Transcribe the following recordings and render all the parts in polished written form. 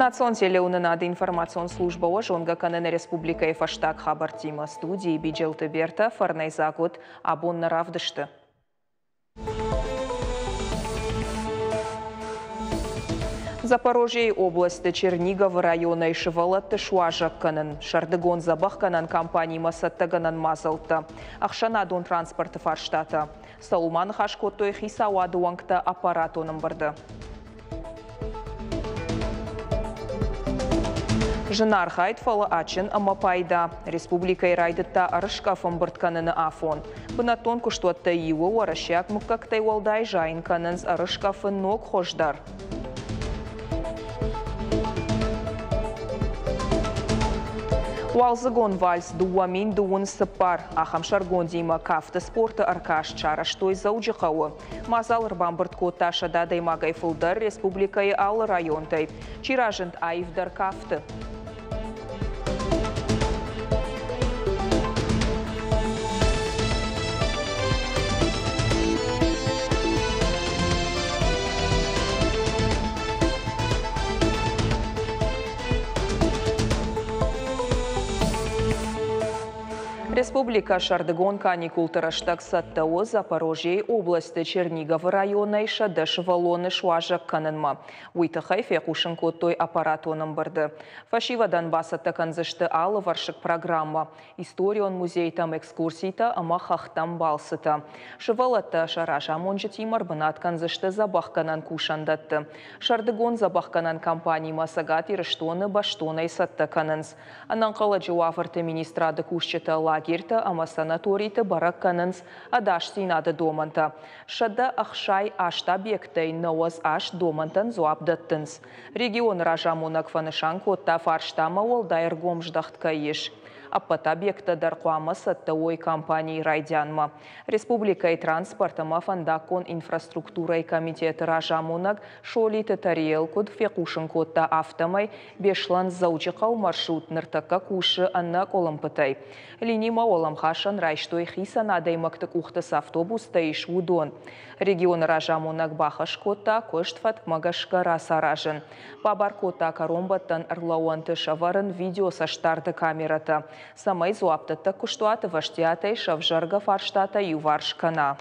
Национ телеуынынады информацион службӕ уӕ зонгӕ кӕны нӕ республикӕйы фӕстаг хабӕрттимӕ. Студийы Биджелты Бертӕ фӕрнӕйдзаг уыд абон нӕ равдысты. Запорожьейы областы Черниговы районӕй сывӕллӕтты суазӕг кӕнын, сӕрдыгон дзӕбӕхгӕнӕн кампанимӕ цӕттӕгӕнӕн мадзӕлттӕ, ӕхсӕнадон транспорты фарстатӕ. Цӕуыл ма ныхас кодтой хицауады уӕнгтӕ аппаратон ӕмбырды. Зынархайд, фӕлӕ адджын ӕмӕ пайда. Республикӕйы райдыдта ӕрыскъӕф ӕмбырд кӕныны афон. Бынӕттон куыстуӕттӕй иуы уӕрӕсейаг мыггӕгтӕй уӕлдай зайын кӕнынц ӕрыскъӕфы ног хуыз дӕр. Уалдзыгон вальс 2024 ахӕм сӕргондимӕ кафты спорты ӕркаст сарӕзтой Дзӕуджыхъӕуы. Мадзал ӕрбамбырд кодта 100 адӕймагӕй фылдӕр республикӕйы алы районтӕй. Чи разынд аивдӕр кафты? Республикӕ сӕрдыгон каникулты рӕстӕг цӕттӕ у Запорожьейы областы Черниговы районӕй 100 сывӕллоны суазӕг кӕнынмӕ. Уый тыххӕй фехъусын кодтой аппаратон ӕмбырды. Фӕсивӕдӕн бацӕттӕ кӕндзысты алывӕрсыг программӕ, историон музейтӕм экскурситӕ ӕмӕ хӕхтӕм балцытӕ. Сывӕллӕттӕ сӕ разамонджытимӕ ӕрбынат кӕндзысты дзӕбӕхгӕнӕн кусӕндӕтты. Сӕрдыгон дзӕбӕхгӕнӕн кампанимӕ Цӕгат Ирыстоны бӕстонӕй цӕттӕ кӕнынц. Ӕнӕнхъӕлӕджы уавӕрты министрады кусджытӕ лагерьтӕ ӕмӕ санаториты бӕрӕг кӕнынц ӕдасдзинады домӕнтӕ. 168 объектӕй 98 домӕнтӕн дзуапп дӕттынц. Регионы разамонӕг фӕнысан кодта, фарстамӕ уӕлдай ӕргом здӕхт кӕй ис. Ӕппӕт объекттӕ дӕр хъуамӕ цӕттӕ уой кампанийы райдианмӕ. Республикӕйы транспорт ӕмӕ фӕндаггон инфраструктурӕйы комитеты разамонӕг Солиты Тариэл куыд фехъусын кодта, афтӕмӕй Беслӕн-Дзӕуджыхъӕу маршрут ныртӕккӕ кусы ӕнӕ къуылымпытӕй. Линимӕ уӕлӕмхасӕн райстой хицӕн адӕймӕгты къухты цы автобустӕ ис, уыдон. Регионы разамонӕг бахӕс кодта куыст фӕткмӕ гӕсгӕ рацаразын. Бабар кодта кӕронбӕттӕн ӕрлӕууӕнты сӕвӕрын видеоцӕстдарды камерӕтӕ, цӕмӕй дзуапдӕттӕг куыстуат ӕвӕстиатӕй сӕвзӕргӕ фарстатӕ иуварс кӕна.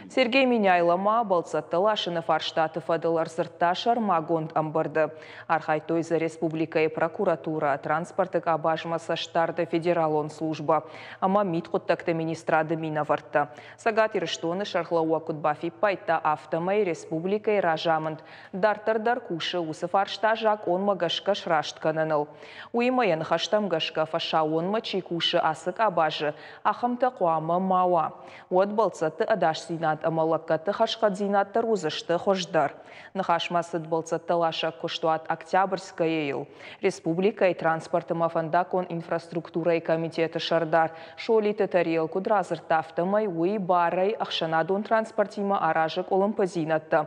Сергей Меняйло ма бӕлццӕттӕ ласыны фарстаты фӕдыл ӕрдзырдта сӕрмагонд ӕмбырды. Архайдтой дзы республикӕйы прокуратурӕ, транспорты къабазмӕ цӕстдарды федералон службӕ ӕмӕ мидхъуыддӕгты министрады минӕвӕрттӕ. Цӕгат Ирыстоны сӕргълӕууӕг куыд бафиппайдта, афтӕмӕй республикӕйы разамынд дарддӕр дӕр кусы уыцы фарста закъонмӕ гӕсгӕ сраст кӕныныл. Уыимӕ йӕ ныхӕстӕм гӕсгӕ фӕсаууонмӕ чи кусы ацы къабазы, ахӕмтӕ хъуамӕ ма уа. Уӕд бӕлццӕтты ӕдасдзинад ӕмӕ лӕггӕдты хӕрзхъӕддзинад дӕр уыдзысты хуыздӕр. Ныхасмӕ цыд бӕлццӕттӕласӕг куыстуат Октябрьское-йыл. Республикӕйы транспорт ӕмӕ фӕндаггон инфраструктурӕйы комитеты сӕрдар Солиты Тариэл куыд радзырдта, афтӕмӕй уый барӕй ӕхсӕнадон транспортимӕ аразы къуылымпыдзинӕдтӕ.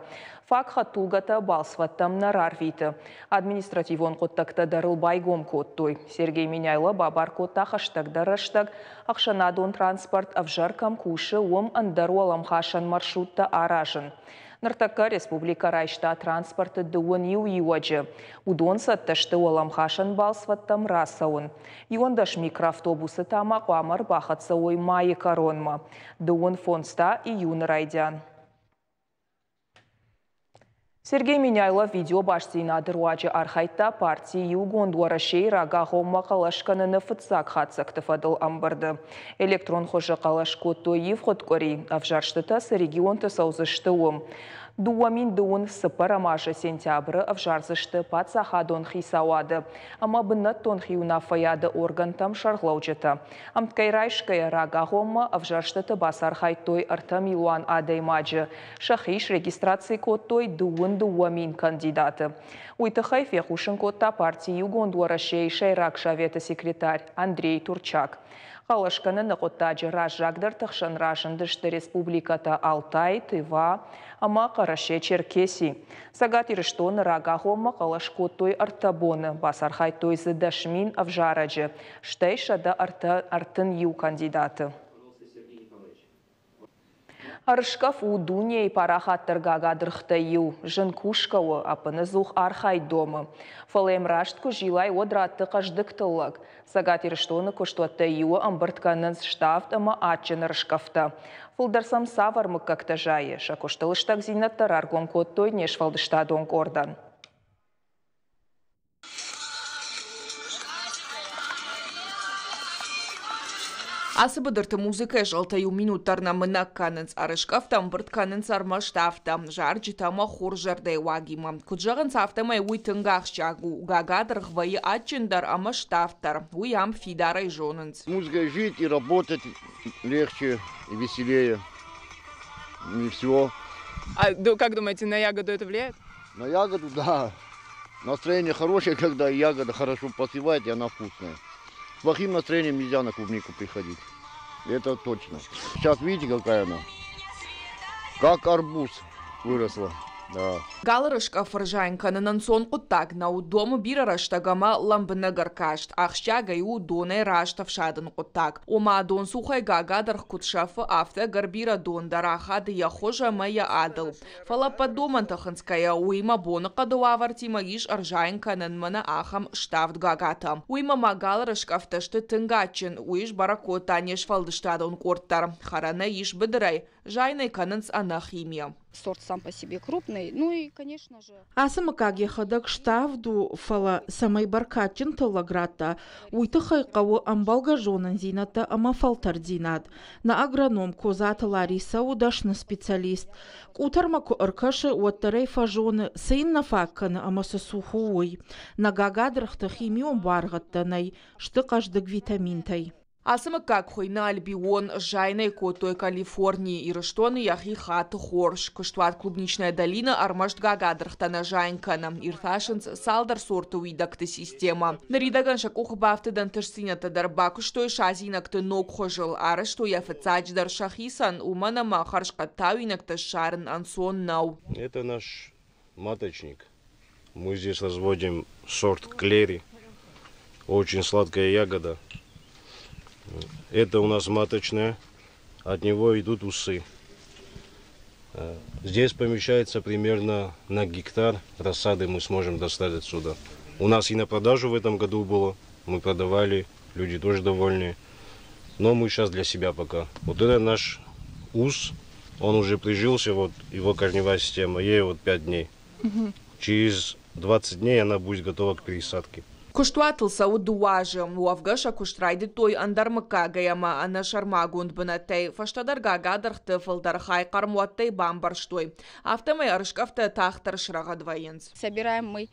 Фаг хӕдтулгӕтӕ балцвӕдтӕм нӕ рарвиты. Административон хъуыддӕгтӕ дӕр ыл байгом кодтой. Сергей Меняйло бабар кодта хӕстӕгдӕр рӕстӕг ӕхсӕнадон транспорт ӕвзӕр кӕм кусы, уым ӕндӕр уӕлӕмхасӕн маршруттӕ аразын. Ныртӕккӕ республикӕ райста транспорты дыууын иу иуӕджы. Уыдон цӕттӕ сты уӕлӕмхасӕн балцвӕдтӕм рацӕуын. 11 микроавтобусы та ма хъуамӕ ӕрбахӕццӕ уой майы кӕронмӕ. 35 та июны райдиан. Сергей Меняйло видеобастдзинады руаджы архайдта парти Иугонд Уӕрӕсейы рагагъоммӕ хъӕлӕс кӕныны фыццаг хатдзӕгты фӕдыл ӕмбырды. Электрон хуызы хъӕлӕс кодтой ивгъуыд къуыри, ӕвзӕрстытӕ цы регионты цӕудзысты, уым. 2024 азы сентябры ӕвзардзысты паддзахадон хицауады ӕмӕ бынӕттон хиуынаффӕйады органтӕм сӕргълӕуджытӕ. Ӕмткӕй райсгӕйӕ рагагъоммӕ ӕвзӕрстыты бацархайдтой 3 милуан адӕймаджы. Сӕхи срегистраци кодтой 22 000 кандидаты. Уый тыххӕй фехъусын кодта парти Иугонд Уӕрӕсейы Сӕйраг Советы секретарь Андрей Турчак. Хъӕлӕс кӕныны хъуыддаджы раззагдӕрты хсӕн разындысты республикӕтӕ Алтай, Тыва ӕмӕ Хъӕрӕсе-Черкеси. Цӕгат Ирыстоны рагагъоммӕ хъӕлӕс кодтой 3 боны, бацархайдтой дзы 10 000 ӕвзарӕджы, стӕй 131 кандидаты. Ӕрыскъӕф у дунейы парахатдӕр гагадыргътӕй иу. Зын кусгӕ у, ӕппынӕдзух архайд домы. Фӕлӕ йӕм раст куы зилай, уӕд ратты хъӕздыг тыллӕг. Цӕгат Ирыстоны куыстуӕттӕй иуы ӕмбырд кӕнынц ставд ӕмӕ адджын ӕрыскъӕфтӕ. Фылдӕр сӕм цавӕр мыггӕгтӕ зайы, сӕ куысты лыстӕгдзинӕдтӕ раргом кодтой не сфӕлдыстадон къордӕн. Ацы быдырты музыкӕйы зӕлтӕ иу минут дӕр нӕ мынӕг кӕнынц, ӕрыскъӕфтӕ ӕмбырд кӕнынц ӕрмӕст афтӕ, зарджытӕ ӕмӕ хорз зӕрдӕйы уагимӕ. Куыд зӕгъынц, афтӕмӕй уый тынг ахсджиаг у. Гагадыргъ вӕййы адджындӕр ӕмӕ ставддӕр. Уый ам фидарӕй зонынц. Музыкой жить и работать легче и веселее. И все. А как думаете, на ягоду это влияет? На ягоду, да. Настроение хорошее, когда ягода хорошо поспевает, и она вкусная. С плохим настроением нельзя на клубнику приходить. Это точно. Сейчас видите, какая она? Как арбуз выросла. Да. Галы рыскъӕф ӕрзайын кӕнын ӕнцон хъуыддаг нӕу, домы бирӕ рӕстӕг ӕмӕ лӕмбынӕг ӕркаст. Ахсджиагӕй у донӕй раст ӕфсадын хъуыддаг. Ома, донцухӕй гагадыргъ куыд сӕфы, афтӕ ӕгӕр бирӕ дон дӕр ахады йӕ хуыз ӕмӕ йӕ адыл. Фӕлӕ ӕппӕт домӕнтӕ хынцгӕйӕ, уыимӕ боныхъӕды уавӕртимӕ ис ӕрзайын кӕнӕн мӕнӕ ахӕм ставд гагатӕ. Уыимӕ ма галы рыскъӕфтӕ сты тынг адджын, уый сбӕрӕг кодта не сфӕлдыстадон къорд дӕр. Хӕрӕнӕй ис быдырӕй, зайын ӕй кӕнынц ӕнӕ химийӕ. Сорт сам по себе крупный, ну и, конечно же. Ацы мыггаг йӕхӕдӕг ставд у, фӕлӕ цӕмӕй бӕркадджын тыллӕг радта, уый тыххӕй хъӕуы ӕмбӕлгӕ зонындзинӕдтӕ ӕмӕ фӕлтӕрддзинад. Нӕ агроном Козаты Ларисӕ у дӕсны специалист. Къутӕрмӕ куы ӕркӕсы, уӕддӕр ӕй фӕзоны, цы йын нӕ фаг кӕны ӕмӕ цы цух у, уый. Нӕ гагадыргъты химион буаргъӕдтӕ нӕй, сты хъӕздыг витаминтӕй. Ацы мыггаг хуыйны Альбион, зайын ӕй кодтой Калифорнийы, Ирыстоны йӕхи хаты хорз. Куыстуат Клубничная долина ӕрмӕст гагадыргътӕ нӕ зайын кӕны, иртасынц цалдӕр сорты уидӕгты системӕ. Ныридӕгӕн сӕ къухы бафтыд ӕнтыстдзинӕдтӕ дӕр бакуыстой садзинӕгты ног хуызыл, арӕзтой йӕ фыццаджыдӕр сӕхицӕн, уымӕн ӕмӕ хӕрзхъӕд тауинӕгтӕ ссарын ӕнцон нӕу. Это наш маточник. Мы здесь разводим сорт клери. Очень сладкая ягода. Это у нас маточная. От него идут усы. Здесь помещается примерно на гектар рассады мы сможем достать отсюда. У нас и на продажу в этом году было. Мы продавали, люди тоже довольны. Но мы сейчас для себя пока. Вот это наш ус, он уже прижился, вот его корневая система, ей вот 5 дней. Через 20 дней она будет готова к пересадке. Куыстуатыл цӕуы дыууӕ азы. Уӕвгӕ сӕ куыст райдыдтой ӕндӕр мыггагӕй ӕмӕ ӕнӕсӕрмагонд бынӕттӕй. Фӕстӕдӕр гагадыргъты фылдӕр хай хъӕрмуӕттӕй бамбӕрзтой. Афтӕмӕй ӕрыскъӕфтӕ тагъддӕр срӕгъӕд вӕййынц. Собираем мы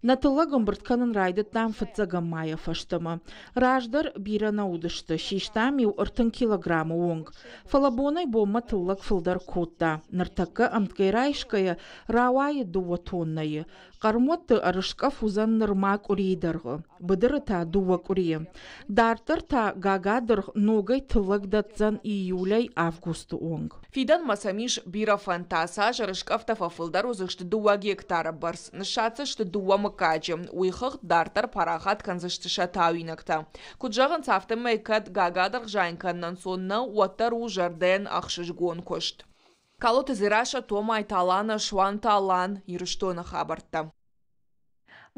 Нӕ тыллӕг ӕмбырд кӕнын райдыдтам фыццӕгӕм майӕ фӕстӕмӕ. Раздӕр бирӕ нӕ уыдысты, систам-иу 30 килограммы онг. Фӕлӕ бонӕй-бонмӕ тыллӕг фылдӕр кодта. Ныртӕккӕ ӕмткӕй райсгӕйӕ рауайы дыууӕ тоннӕйы. Хъӕрмуӕтты ӕрыскъӕф уыдзӕн нырма къуырийы дӕргъы, быдыры та дыууӕ къуырийы. Дарддӕр та гагадыргъ ногӕй тыллӕг дӕтдзӕн июлӕй августы онг. Фидӕнмӕ сӕм ис бирӕ фӕндтӕ. Сӕ ӕрыскъӕфтӕ фӕфылдӕр уыдзысты дыууӕ гектары бӕрц, ныссадздзысты дыууӕ мыггаджы. Уый хыгъд дарддӕр парахат кӕндзысты сӕ тауинӕгтӕ. Куыд зӕгъынц, афтӕмӕй кӕд гагадыргъ зайын кӕнын ӕнцон нӕу, уӕддӕр у зӕрдӕйӕн ӕхсызгон куыст. Калоты Дзерассӕ, Томайты Алана, Суанты Алан, Ирыстоны хабӕрттӕ.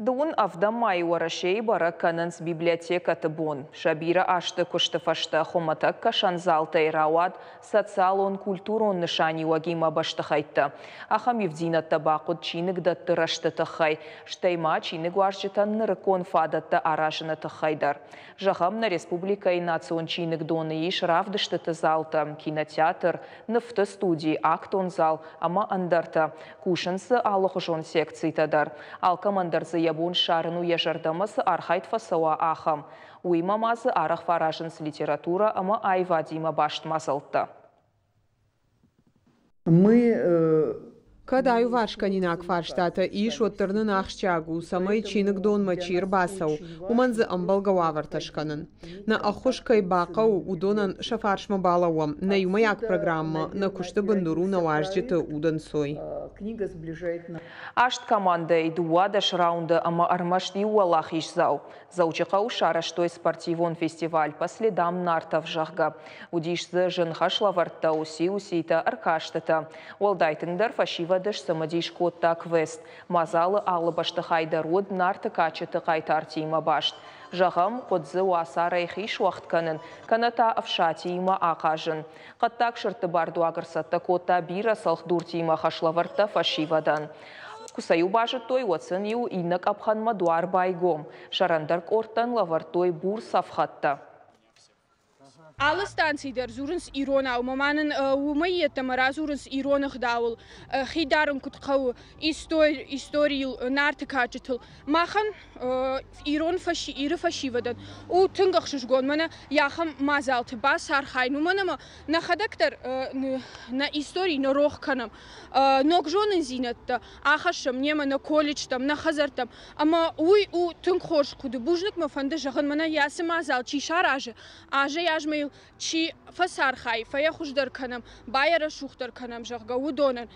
Дыууын ӕвдӕм майы Уӕрӕсейы бӕрӕг кӕнынц библиотекӕты бон. Сӕ бирӕ азты куысты фӕстӕ хуымӕтӕг кӕсӕн залтӕй рауад социалон-культурон нысаниуӕгимӕ бӕстыхӕйттӕ. Ахӕм ивддзинӕдтӕ бахъуыд чиныгдӕтты рӕзты тыххӕй, стӕй ма чиныгуарзджытӕн нырыккон фадӕттӕ аразыны тыххӕй дӕр. Зӕгъӕм, нӕ республикӕйы национ чиныгдоны ис равдыстыты залтӕ, кинотеатр, нывты студи, актон зал ӕмӕ ӕндӕртӕ. Кусынц дзы алыхуызон секцитӕ дӕр. Алкӕмӕн дӕр дзы йӕ бон ссарын у йӕ зӕрдӕмӕ цы архайд фӕцӕуа, ахӕм. Уыимӕ ма дзы арӕх фӕаразынц литературӕ ӕмӕ аивадимӕ баст мадзӕлттӕ. Мы э, Кӕд аиуварсгӕнинаг фарстатӕ ис, уӕддӕр нын ахсджиаг у, цӕмӕй чиныгдонмӕ чи ӕрбацӕуы, уымӕн дзы ӕмбӕлгӕ уавӕртӕ скӕнын. Нӕ ӕххуыс кӕй бахъӕуы, уыдонӕн сӕ фарсмӕ балӕууӕм. Нӕ иумӕйаг программӕ, нӕ куысты бындур у нӕ уазджыты удӕнцой. Аст командӕйы 12 раунды ӕмӕ ӕрмӕст иу уӕлахиздзау. Дзӕуджыхъӕуы сарӕзтой спортивон фестиваль «По следам нартов», зӕгъгӕ. Уыдис дзы зын хӕслӕвӕрдтӕ, уыци-уыцитӕ, ӕркастытӕ. Уӕлдай тынгдӕр фӕсивӕды сцымыдис кодта квест. Мадзалы алы бӕстыхай дӕр уыд Нарты кадджыты хъайтартимӕ баст. Зӕгъӕм, хъуыд дзы уацарӕй хи суӕгъд кӕнын, кӕнӕ та Ӕфсатиимӕ ахъазын. Хъӕддаг сырдты бардуаг ӕрцӕттӕ кодта бирӕ цӕлхдуртимӕ хӕслӕвӕрдтӕ фӕсивӕдӕн. Куы сӕ-иу базыдтой, уӕд сын-иу иннӕ къӕпхӕнмӕ дуар байгом. Сӕрӕндӕр къордтӕн лӕвӕрдтой бур цӕфхӕдтӕ. Алы станцийы дӕр дзурынц иронау, ӕмӕ нын уымӕй йеддӕмӕ радзурынц ирон ӕгъдауыл, хи дарын куыд хъӕуы, историйыл, Нарты кадджытыл. Махӕн ирон Иры фӕсивӕдӕн у тынг ӕхсызгон мӕнӕ ахӕм мадзалты бацархайын, уымӕн ӕмӕ нӕхӕдӕг дӕр нӕ истори нӕ рох кӕнӕм. Ног зонындзинӕдтӕ ахӕссӕм немӕ нӕ колледжтӕм, нӕ хӕдзӕрттӕм. Ӕмӕ уый у тынг хорз хъуыды. Бузныг мӕ фӕнды зӕгъын, мӕнӕ ацы мадзал чи саразы, азӕй-азмӕ йыл чи фӕцархайы, фӕйӕ хуыздӕр кӕнӕм, байӕрӕсугъддӕр кӕнӕм, зӕгъгӕ, уыдонӕн.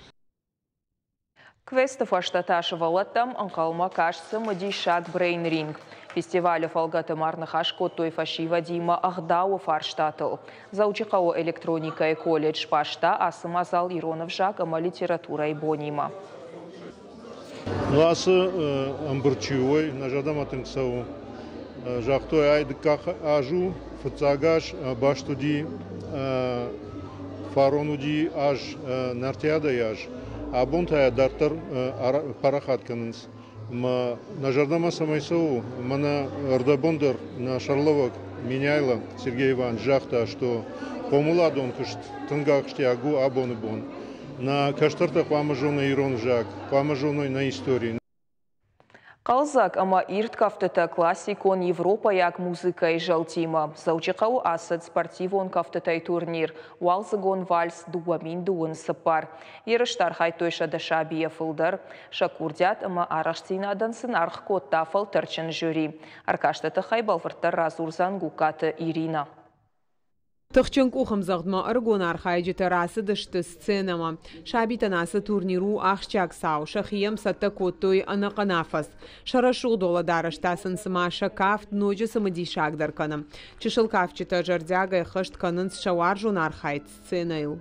Квесты фӕстӕ та сывӕллӕттӕм ӕнхъӕлмӕ каст цымыдисаг брейн-ринг. Фестивалы фӕлгӕты ма ӕрныхас кодтой фӕсивӕдимӕ ӕгъдауы фарстатыл. Дзӕуджыхъӕуы электроникӕйы колледж сбаста ацы мадзал ирон ӕвзаг ӕмӕ литературӕйы бонимӕ. Ну, ацы ӕмбырд чи уой, нӕ зӕрдӕмӕ тынг цӕуы. Загътой, ай дыккаг аз у, фыццаг аз баст уыди, фарон уыди аз Нартиадӕйы аз. Абон та йӕ дарддӕр парахат кӕнынц. Ӕмӕ нӕ зӕрдӕмӕ цӕмӕй цӕуы, мӕнӕ ӕрдӕбон дӕр нӕ сӕргълӕууӕг Меняйло Сергей Иванович загъта, что хъомыладон куыст тынг ахсджиаг у абоны бон. Нӕ кӕстӕртӕ хъуамӕ зоной ирон ӕвзаг, хъуамӕ зоной нӕ истори. Хъӕлдзӕг ӕмӕ ирд кӕфтытӕ классикон европӕйаг музыкӕйы зӕлтимӕ. Дзӕуджыхъӕуы ацыд спортивон кӕфтытӕй турнир «Уалдзыгон вальс 2024». Ерысты архайдтой 100 сабийӕ фылдӕр. Сӕ курдиат ӕмӕ арӕхстдзинадӕн сын аргъ кодта фӕлтӕрдджын жюри. Ӕркасты тыххӕй бӕлвырддӕр радзурдзӕн Гугкаты Иринӕ. Тыхджын къухӕмдзӕгъдмӕ ӕрыгон архайджытӕ рацыдысты сценӕмӕ. Сабитӕн ацы турнир у ахсджиаг цау, сӕхи йӕм цӕттӕ кодтой ӕнӕхъӕн афӕдз. Сӕ рӕсугъд уӕлӕдарӕс та сын цыма сӕ кафт ноджы цымыдисагдӕр кӕны. Чысыл кафджытӕ зӕрдиагӕй ӕххӕст кӕнынц сӕ уарзон архайд сценӕйыл.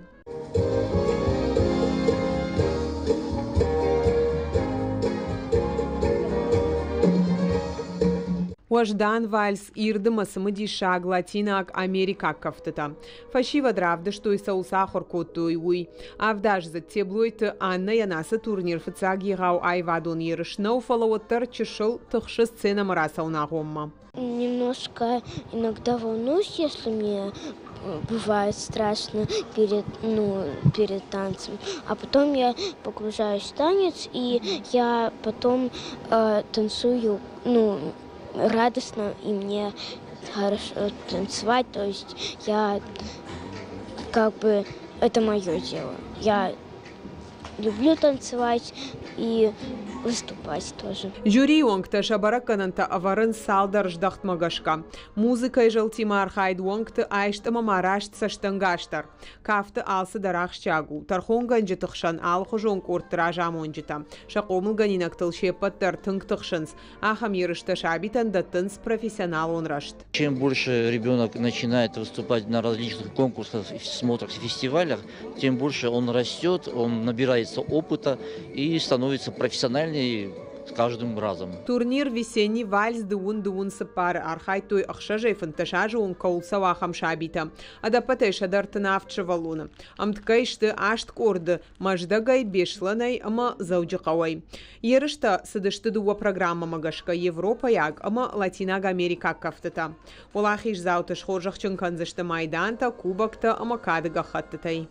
Уӕздан вальс, ирд ӕмӕ цымыдисаг латинаг америкаг кӕфтытӕ. Фӕсивӕд равдыстой, цӕуыл сӕ ахуыр кодтой, уый. Авдаздзыд Теблойты Аннӕйӕн ацы турнир фыццаг егъау аивадон ерыс нӕу, фӕлӕ уӕддӕр чысыл тыхсы сценӕмӕ рацӕуын агъоммӕ. Немножко иногда волнуюсь, если мне бывает страшно перед, ну, перед танцем. А потом я погружаюсь в танец, и я потом танцую, ну, радостно, и мне хорошо танцевать. То есть я как бы это мое дело. Я люблю танцевать и выступать тоже. Жюрийы уӕнгтӕ сӕ бӕрӕггӕнӕнтӕ ӕвӕрынц цалдӕр здӕхтмӕ гӕсгӕ. Музыкӕйы зӕлтимӕ архайд, уӕнгты айст ӕмӕ ма раст цӕстӕнгас дӕр. Кафты алцыдӕр ахсджиаг у. Тӕрхонгӕнджыты хсӕн алыхуызон къордты разамонджытӕ. Сӕ хъомылгӕнинӕгтыл се ппӕт дӕр тынг тыхсынц. Ахӕм ерыстӕ сабитӕн дӕттынц профессионалон рӕзт. Чем больше ребенок начинает выступать на различных конкурсах, смотрах, фестивалях, тем больше он растет, он набирается опыта и становится профессиональнее с каждым разом. Турнир «Весенний вальс 24» архайдтой 6-ӕй 15 азы онг кӕуыл цӕуы, ахӕм сабитӕ. Ӕдӕппӕтӕй 137 сывӕллоны. Ӕмткӕй сты аст къорды Мӕздӕгӕй, Беслӕнӕй ӕмӕ Дзӕуджыхъӕуӕй. Ерыстӕ цыдысты дыууӕ программӕмӕ гӕсгӕ: европӕйаг ӕмӕ латинаг америкаг кӕфтытӕ. Уӕлахиздзауты схорзӕхджын кӕндзысты майдантӕ, кубоктӕ ӕмӕ кады гӕххӕттытӕй.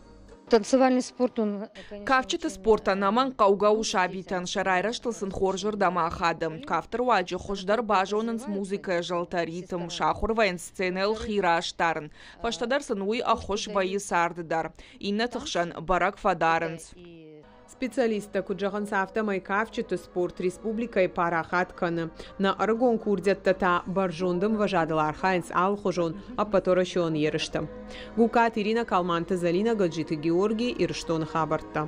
Танцевальный спорт, он Кафджыты спорт ӕнӕмӕнг хъӕугӕ у сабитӕн, сӕ райрӕзтыл сын хорзырдӕм ахады. Кафты руаджы хуыздӕр базонынц музыкӕйы зӕлтӕ, ритм, сахуыр вӕййынц сценӕйыл хи раст дарын. Фӕстӕдӕр сын уый ӕххуыс вӕййы царды дӕр. Иннӕты хсӕн бӕрӕг фӕдарынц. Специалисттӕ куыд зӕгъынц, афтӕмӕй кафджыты спорт республикӕйы парахат кӕны. Нӕ ӕрыгон курдиӕттӕ та бӕрзонд ӕмвӕзадыл архайынц алыхуызон ӕппӕтуӕрӕсеон ерысты. Гукаты Иринӕ, Калманты Зӕлинӕ, Гӕджиты Георгий, Ирыстоны хабӕрттӕ.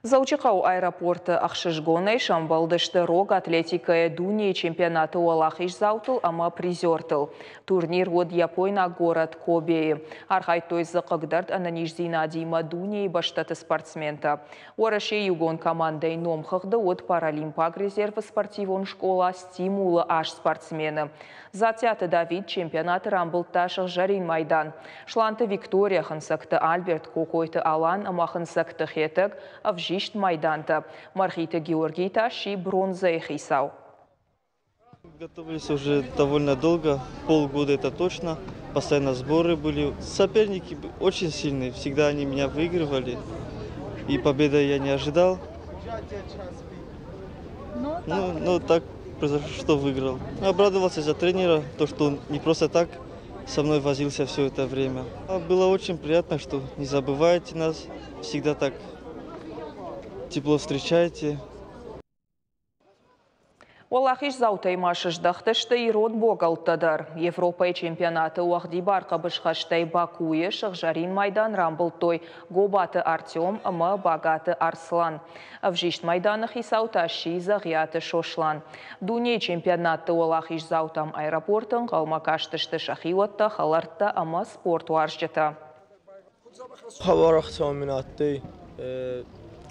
Дзӕуджыхъӕуы аэропорты ӕхсызгонӕй сӕмбӕлдысты рог атлетикӕйӕ дунейы чемпионаты уӕлахиздзаутыл ӕмӕ призертыл. Турнир уыд япойнаг горӕт Кобейы. Архайдтой дзы хъыгдӕрд ӕнӕниздзинадимӕ дунейы бӕстӕты спортсментӕ. Уӕрӕсейы иугонд командӕйы номхыгъды уыд паралимпаг резервы спортивон скъола «Стимул»-ы аст спортсмены. Дзаттиаты Давид чемпионаты рамбылдта сыгъзӕрин майдан. Сланты Виктория, Хынцӕгты Альберт, Кокойты Алан ӕмӕ Хынцӕгты Хетӕг ӕвзист майдантӕ. Мӕргъиты Георгий та сси бронзӕйы хицау. Готовились уже довольно долго, полгода это точно. Постоянно сборы были. Соперники очень сильные, всегда они меня выигрывали. И победы я не ожидал. Ну, так произошло, что выиграл. Обрадовался за тренера, то, что он не просто так со мной возился все это время. А было очень приятно, что не забываете нас, всегда так тепло встречаете. Уӕлахиздзаутӕй ма сыздӕхтысты ирон богӕлттӕ дӕр. Европӕйы чемпионаты уӕгъдибар хъӕбысхӕстӕй Бакуйы сыгъзӕрин майдан рамбылдтой Гобаты Артем ӕмӕ Багаты Арслан. Ӕвзист майданы хицау та сси Дзӕгъиаты Сослан. Дунейы чемпионатты уӕлахиздзаутӕм аэропорты ӕнхъӕлмӕ кастысты сӕхиуӕттӕ, хӕлӕрттӕ ӕмӕ спортуарзджытӕ. Хъӕбӕр ӕхцӕуӕн мин адтӕй.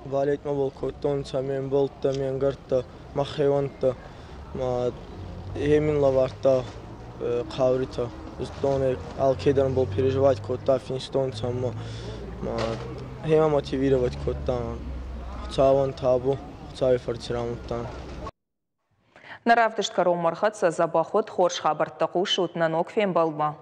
Балетмӕ бол кодтонцӕ ме мбӕлттӕ, ме нгӕрттӕ, мӕ хеуӕнттӕ. Ма е мин лӕвардта хъауритӕ. Зудтон, алкедӕр бол переживать кодта, финстонцӕ ӕма ма хемӕ мотивировать кодта. Хуцауӕн табу, Хуцауи фӕрци рамулдтан. Нӕ равдыст кӕронмӕ ӕрхӕццӕ. Дзӕбӕх ут, хорз хабӕрттӕ хъусут нӕ ног фембӕлдмӕ.